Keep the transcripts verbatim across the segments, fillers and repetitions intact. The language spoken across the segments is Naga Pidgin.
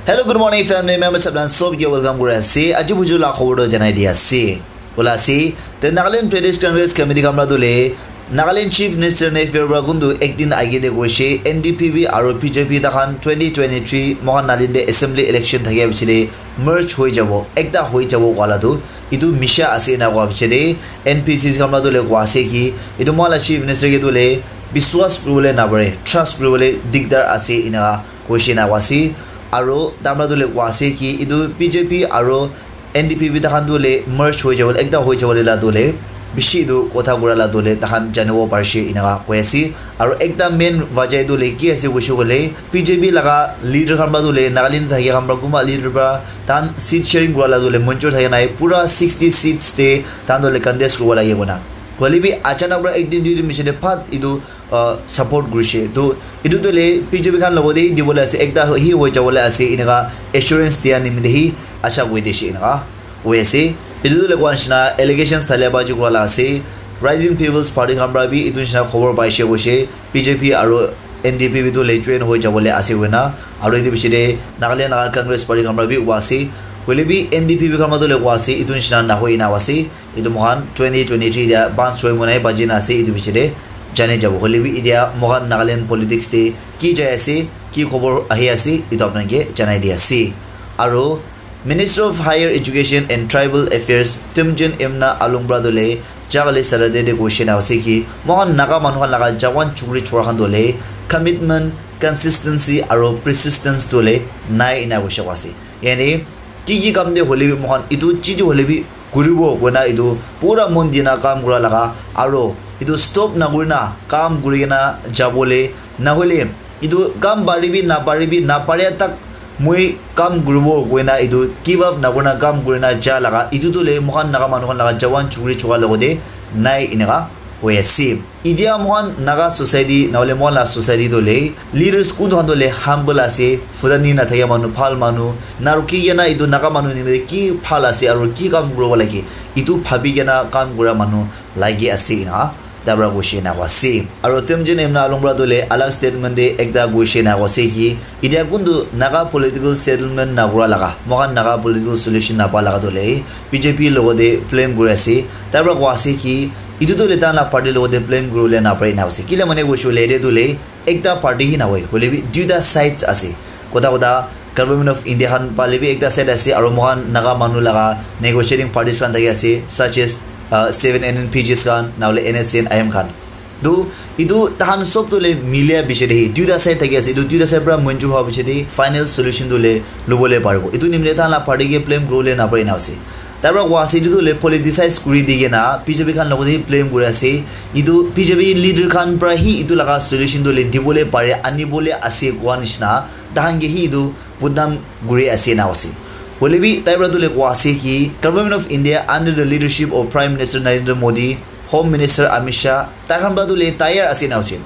Hello, good morning, family members. Sabran sob ke welcome kuri ase. Aji buju la khobor to janai di ase. Bola ase, the Nagaland Pradesh Congress Committee khan pra dule Nagaland Chief Minister Neiphiu Rio pra kuntu ek din age te koise, N D P P aru B J P takhan twenty twenty-three mohan nalin te assembly election thakia pichete merge hoi jabo, ekta hoi jabo koala tu, itu misha ase ena koa pichete N P C C khan pra dule koa ase ki itu mohan la Chief Minister ke dule biswas kuribole napare, trust kuribole digdar ase ena koise ena koa ase. Aru tamra dule koa ase ki itu B J P aru N D P P takhan tu le merge hoi jabo, ekta hoi jabo le la tu le bishi tu kotha kura la tu le takhan janibo parishe inaka koi ase. Aru ekta main wajah tu le ki ase koishe koile B J P laga leader khan pra tu le Nagaland thaki khan pra kunba leader pra tan seat sharing kura la tu le manjur thaki nai, pura sixty seats te tan tu le contest kuribo lage kona. Hoile bi achanak pra ek din dui din pichete phat itu uh, support kurishe. To itu to le B J P khan logote dibole ase, ekta hi hoi jabole ase inaka assurance dia nimite hi acha koi dishe inaka koi ase. Itu to le koa nishina allegations thalia baji kura la ase. Rising People's Party khan pra bi itu nishina khobor paishe koishe B J P aru N D P P tu le join hoi jabole ase koina. Aru itu pichete Nagaland laga Congress Party khan pra bi koa ase. Hoile bi N D P P khan pra tu le koa ase itu nishina nahoi ina koa ase. Etu moikhan twenty twenty-three dia panch choi monai baji na ase etu piche te jane jabo. Hoile bi etia moikhan Nagaland politics te ki jai ase, ki khobor ahi ase, etu apna ke janai di ase. Aru Minister of Higher Education and Tribal Affairs Temjen Imna Alungpra dole jagale Saturday de koishe na ase ki moikhan Naga manu khan laga jawan chukri chora khan dole commitment, consistency aru persistence dole nai ena koishe ase. Yani ki ki kam de hoile bi moikhan etu chi chi hoile bi kuribo koina etu pura mon dina kam kura laga aru etu stop nakurina kam kurikena jabole nahoile etu kam paribi naparibi naparia tak moi kam kuribo koina etu give up nakurina kam kurina ja laga etu tu le moikhan Naga manu khan laga jawan chukri choka logote nai eneka koi ase. Etia moikhan Naga society nahoile moikhan la society tu le leaders kuntu khan tu le humble ase, futani nathakia manu, bhal manu, naruki kena etu Naga manu nimite ki bhal ase aru ki kam kuribo lage etu bhabi kena kam kura manu lagi ase ena tabra koishe na ase. Aru Temjen Imna Alungpra tu le alag statement de ekta koishe na ase ki etia kuntu Naga political settlement nakura laga, moikhan Naga political solution napa laga tu le B J P logote blame kuri ase. Tabra koa ase ki etu tu le tan la party logote blame kuribole napare ena ase. Kile mane koishe hoile ete tu le ekta party hi nahoi, hoile bi duita sides ase. Kotha kotha Government of India khan pale bi ekta side ase aru moikhan Naga manu laga negotiating parties khan thaki ase, such as uh, seven N N P Gs khan nahoile N S C N I M khan. Tu etu tahan sob tu le milia piche de hi duita side thaki ase. Etu duita side pra manjur hoa piche de final solution tu le lobole paribo. Etu nimite tahan la party ke blame kuribole napare ena ase. Tabra koa ase etu tu le politicize kuri di kena B J P khan logote blame kuri ase. Etu B J P leader khan pra hi etu laga solution tu le dibole pare, anibole ase koa nishina tahan ke hi etu budnam kuri ase na ase. Hoile bi tai pra tu le koa ase ki Government of India under the leadership of Prime Minister Narendra Modi, Home Minister Amit Shah, tai khan pra tu le tayar ase na ase.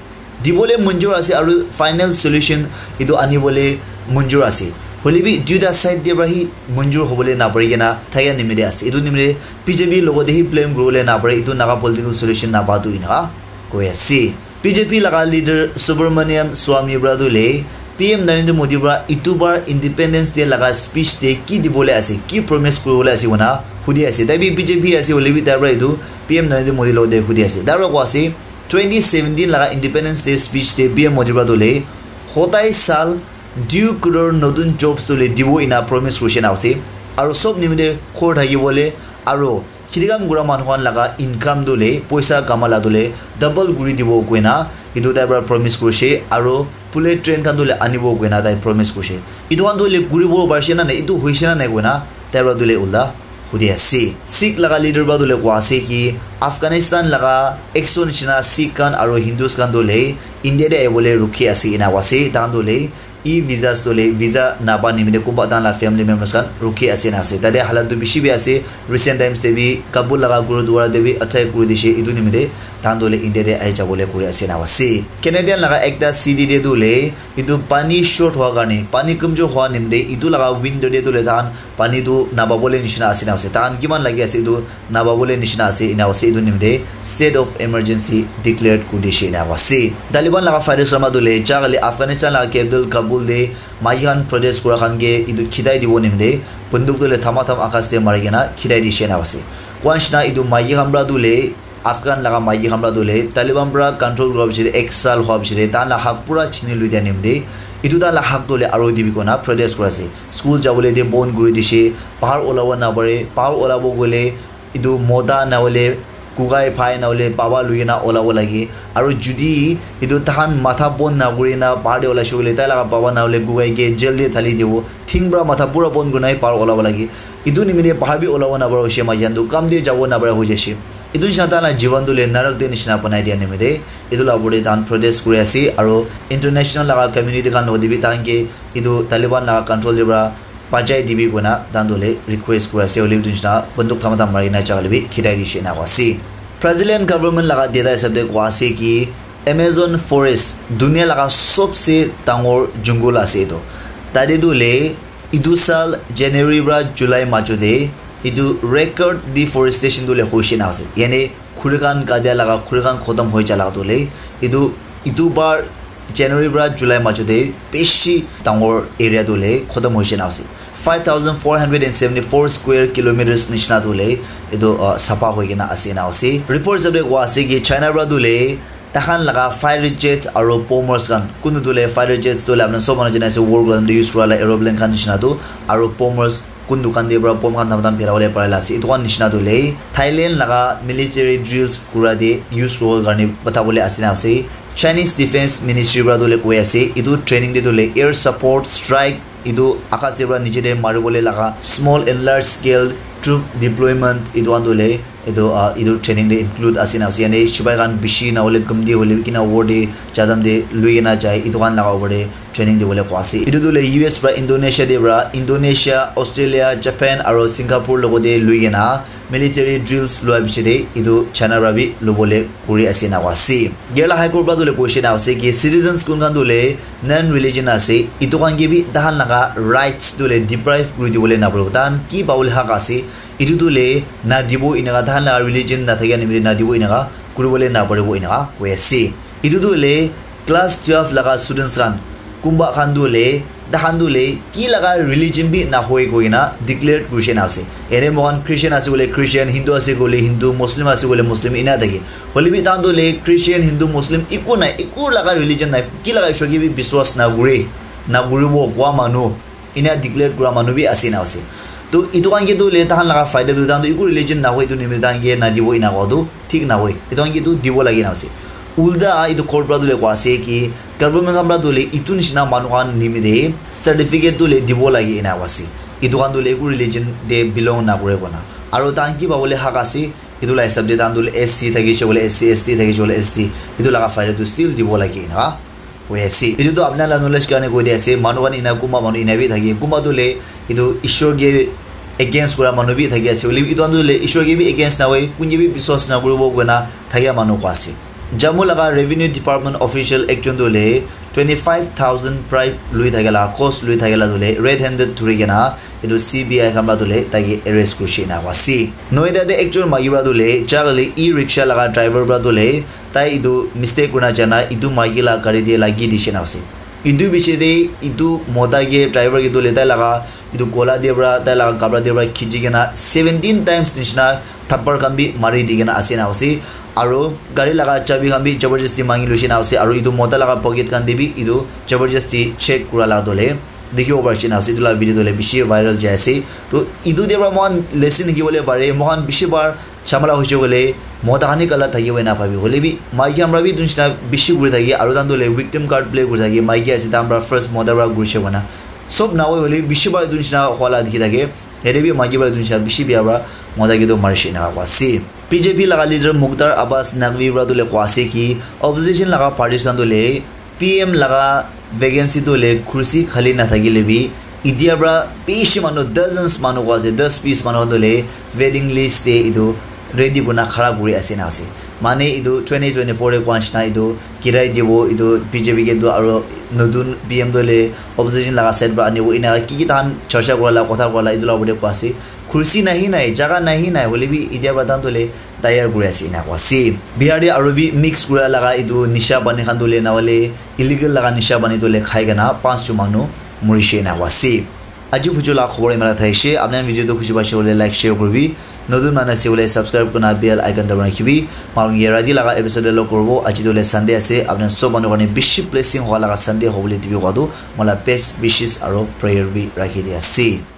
Dibole manjur ase aru final solution etu anibole manjur ase. Hoile bi duita side de pra hi manjur hobole napare kena thaya nimite ase. Etu nimite B J P logote hi blame kuribole napare, etu Naga political solution napa tu ena koi ase. B J P laga leader Subramaniam Swami pra tu le P M Narendra Modi pra itu bar Independence Day laga speech te ki dibole ase, ki promise kuribole ase koina hudi ase. Tai bi B J P ase hoile bi tai pra etu P M Narendra Modi logote hudi ase. Tai pra koa ase twenty seventeen laga Independence Day speech te P M Modi pra tu le hotai sal dui crore notun jobs tu le dibo ena promise kurishe na ase. Aru sob nimite khor thakibole aru kheti kam kura manu khan laga income tu le poisa kama la tu le double kuri dibo koina etu tai pra promise kurishe aru bullet train khan tu le anibo koina tai promise kurishe. Etu khan tu le kuribo parishe na nai, etu hoishe na nai koina tai pra tu le ulta hudi ase. Sikh laga leader pra tu le koa ase ki Afghanistan laga ekso nishina Sikh khan aru Hindus khan tu le India te ahibole rukhi ase ena koa ase. Tahan tu le e visas tu le visa napa nimite kunba tahan la family members khan rukhi ase na ase. Tate halat tu bishi bi ase. Recent times te bi Kabul laga Gurudwara te bi attack kuri dishe. Etu nimite tahan tu le India te ahi jabole kuri ase na ase. Canadian laga ekta city te tu le etu pani short hoa karne, pani kamjor hoa nimite etu laga winter te tu le tahan pani tu napabole nishina ase na ase. Tahan kiman lagi ase etu napabole nishina ase ena ase. Etu nimite state of emergency declared kuri dishe ena ase. Taliban laga fighters khan tu le jaga le Afghanistan laga capital Kabul de maiki khan protest kura khan ke etu khidai dibo nimite bunduk tu le thama tham akas te mari kena khidai di shena ase. Kwa nishina etu maiki khan pra tu le Afghan laga maiki khan pra tu le Taliban pra control kura bichire ek sal hwa bichire ta la hak pura chini lui dia nimite etu ta la hak tu le aro dibi kona protest kura ase. School jabole de bon kuri dishe, bahar olabo na pare, bahar olabo gole etu mota na hole kukai phai na hole baba lui kena olabo lage. Aru judi etu tahan matha bon na kuri na bahar de olaishe koile tai laga baba na hole kukai ke jail de thali dibo. Thing pra matha pura bon kuri na bahar olabo lage. Etu nimite bahar bi olabo na para hoishe maiki khan tu kam de jabo na para hoi jaishe. Etu nishina tai la jivan tu le narak de nishina banai dia nimite etu la opor de tahan protest kuri ase. Aru international laga community khan logode bi tahan ke etu Taliban laga control de pra bachai dibi koina tahan tu le request kuri ase. Hoile bi etu nishina bunduk thama tham mari kena jagale bi khidai dishe na ase. Brazilian government laga data hisab de koa ase ki Amazon forest dunia laga sobse dangor jungle ase etu. Tate tu le etu sal January pra July majo de etu record deforestation tu le hoishe na ase. Yani khuri khan katia laga khuri khan khotom hoi ja laga tu le etu etu bar January pra July majo de bishi dangor area tu le khotom hoishe na ase. Five thousand four hundred and seventy four square kilometers nishina tu le etu uh, sapa hoi kena ase na ase. Report hisab de koa ase ki China pra tu le tahan laga fighter jets aru bombers khan kuntu tu le fighter jets tu le apna sob manu jana ase war kura time de use kura la aeroplane khan nishina tu aru bombers kun dukan de pra bomb khan tam tam phera bole pare la ase. Etu khan nishina tu le Thailand laga military drills kura de use kuribo karne bata bole ase na ase. Chinese Defense Ministry pra tu le koi ase etu training de tu le air support strike etu akas de pra niche de mari bole laga small and large scale troop deployment etu khan tu le etu uh, etu training de include ase na ase. Yani sipai khan bishi na hole gumti hole bi kina war de jadam de lui kena jai etu khan laga opor de training dibole koa ase. Etu tu le U S pra Indonesia de pra Indonesia, Australia, Japan aru Singapore logo de lui kena military drills lua biche de etu China pra bi lobole kuri ase na koa ase. Kerala High Court pra tu le question ase ki citizens kun khan tu le non religion ase etu khan ke bi tahan laga rights tu le deprive kuri dibole na paribo. Tahan ki pabole hak ase etu tu le na dibo eneka tahan laga religion na thakia nimite na dibo eneka kuri bole na paribo eneka koi ase. Etu tu le class twelve laga students khan kumba khan tu le tahan tu le ki laga religion bi na hoi koi na declare kuri she na ase. Ene mohan Christian ase koile Christian, Hindu ase koile Hindu, Muslim ase koile Muslim ena thake. Hole bi tahan tu le Christian, Hindu, Muslim iku nai, iku laga religion nai, ki laga ishwar ke bi biswas na kure, na kuribo koa manu ena declare kura manu bi ase na ase. To etu khan ke tu le tahan laga faida tu tahan tu iku religion na hoi tu nimite tahan ke na dibo ena koa tu thik na hoi. Etu khan ke tu dibo lagi na ase. Ulta etu court pra tu le koa ase ki government khan pra tu le etu nishina manu khan nimite certificate tu le dibo lagi ena koa ase. Etu khan tu le iku religion de belong na kure kona. Aru tahan ki pabole hak ase etu la hisab de tahan tu le S C thakishe koile S C, S T thakishe koile S T etu laga faida tu still dibo lagi ena. Hoi ase. Etu tu apna la knowledge karne koi di ase. Manu khan ena kunba manu ena bi thake. Kunba tu le etu Ishwar ke against kura manu bi thaki ase. Hoile bi etu khan tu le Ishwar ke bi against na hoi, kun ke bi biswas na kuribo koina thakia manu koa ase. Jammu laga revenue department official ekjon tu le twenty five thousand bribe lui thakia la, cost lui thakia la tu le red handed thuri kena etu C B I khan pra tu le tai ke arrest kurishe ena koa ase. Noida de ekjon maiki pra tu le jagale e-rickshaw laga driver pra tu le tai etu mistake kurina jana etu maiki la gari de lagi dishe na ase. Etu biche de etu mota ke driver ke tu le tai laga etu gola de pra tai laga kapra de pra khichi kena seventeen times nishina thappar khan bi mari di kena ase na ase. Aru gari laga chabi khan bi jabardasti mangi luishe na ase. Aru etu mota laga pocket khan de bi etu jabardasti check kura la tu le dikhibo pari she na ase. Etu la video tu le bishi viral jai ase. To etu de pra moikhan lesson hikibole pare. Moikhan bishi bar chamala hoishe koile mota khan he galat thakibo ena bhabi. Hoile bi maiki khan pra bi etu nishina bishi kuri thake. Aru tahan tu le victim card play kuri thake. Maiki ase tahan pra first mota pra kurishe koina. Sob na hoi hoile bishi bar etu nishina hua la dikhi thake. Yate bi maiki pra etu nishina bishi bia pra mota ke tu marishe ena koa ase. B J P laga leader Mukhtar Abbas Naqvi pra tu le koa ase ki opposition laga parties khan tu le P M laga vacancy tu le kursi khali nathakile bi, etia pra bishi manu, dozens manu koa ase, das bis manu khan tu le waiting list te etu ready kurina khara kuri ase na ase. Mane etu twenty twenty-four te koa nishina etu girai dibo etu B J P ke tu aro notun P M tu le opposition laga side para anibo ena ki ki tahan charcha kura la kotha kura la etu la opor te koa ase. Kursi nahi nai, jaga nahi nai, hoile bi etia para tahan tu le tayar kuri ase ena koa ase. Bihar te aro bi mix kura laga etu nisha pani khan tu le na hoile illegal laga nisha pani tu le khai kena panch jon manu murishe ena koa ase. Aji bhuju la khobor imara thaishe, apni khan video tu khushi paishe hoile like share kuribi, notun manu ase hoile subscribe kurina bell icon dabai rakhibi. Maron ye rati laga episode lo kuribo, aji tu le Sunday ase, apni khan sob manu karne bishi blessing hoa laga Sunday hobole dibi koa tu, mola best wishes aro prayer bi rakhi di ase.